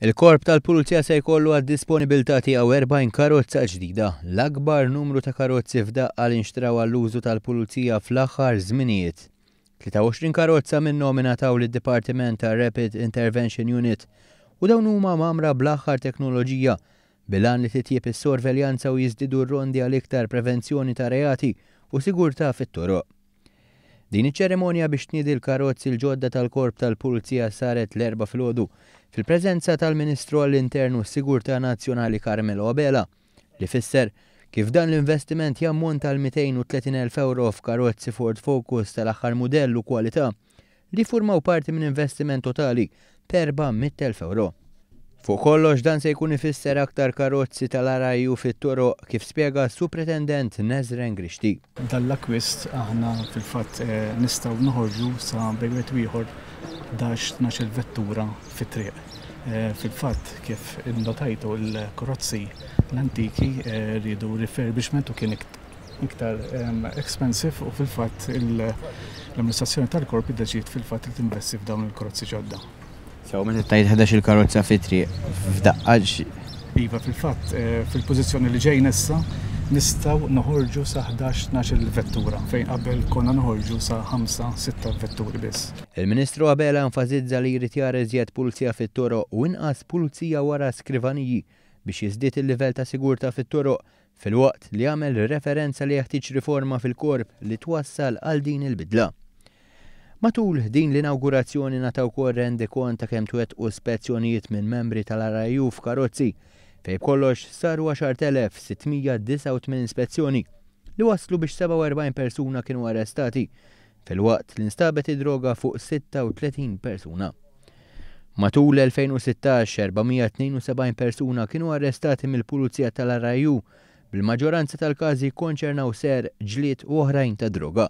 Il-Korp tal-Pulizija se jkollu għad-disponibilità tiegħu 40 karozza ġdida, l-akbar numru ta' karozzi f'daqqa li nxtraw għall-użu tal-Pulizija fl-aħħar żminijiet. 23 karozza minnhom ingħataw lid-Dipartiment tar-Rapid Intervention Unit u dawn huma mgħammra bl-aħħar teknoloġija bil-għan li titjieb is-sorveljanza u jiżdiedu r-rondi għal iktar prevenzjoni ta' reati u sigurtà fit-toroq. Din iċ-ċerimonja biex tniedi l-karozzi l-ġodda tal-Korp tal-Pulizija saret l-Erbgħa filgħodu fil-preżenza tal-Ministru għall-Intern u s-Sigurtà Nazzjonali Carmelo Abela li fisser kif dan l-investiment jammonta għal 230,000 ewro f'karozzi Ford Focus tal-aħħar mudell u kwalità li jiffurmaw parti minn investiment totali t'400,000 ewro. Fuq kollox dan se jkun ifisser aktar karozzi tal-RIU fit-toroq kif spjega s-Supretendent Nezren Grixti. Dan l-akkwist aħna fil-fatt nistgħu noħorġu sa bejn wieħed u ieħor 11, 12-il vettura fit-triq. Fil-fatt kif innotajtu l-karozzi l-antiki riedu refurbishment u kien iktar expensive u fil-fatt l-amministrazzjoni tal-korp iddeċidiet fil-fatt li tinvesti f'dawn il-karozzi ġodda. Sew meta tgħid 11 il-karozza fit-triq f'daqqa Iva, fil-fatt fil-pożizzjoni li ġejna issa nistgħu noħorġu sa 11, 12 vettura fejn qabel konna noħorġu sa 5, 6 vetturi biss. Il-Ministru Abela enfasizza li jrid jara iżjed pulizija fit-toroq u inqas pulizija wara skrivaniji biex jiżdied il-livell ta' sigurtà fit-toroq filwaqt li għamel referenza li jeħtieġ riforma fil-Korp li twassal għal din il-bidla. Matul din l-inawgurazzjoni ngħata wkoll rendikont ta' kemm twettqu spezzjonijiet minn membri tal-RIU f'karozzi, fejn b'kollox saru 10,689 spezzjoni, li wasslu biex 47 persuna kienu arrestati, filwaqt li nstabet id-droga fuq 36 persuna. Matul l-2016, 472 persuna kienu arrestati mill-Pulizija tal-RIU, bil-maġġoranza tal-każi jikkonċernaw serq, ġlied u oħrajn ta' droga.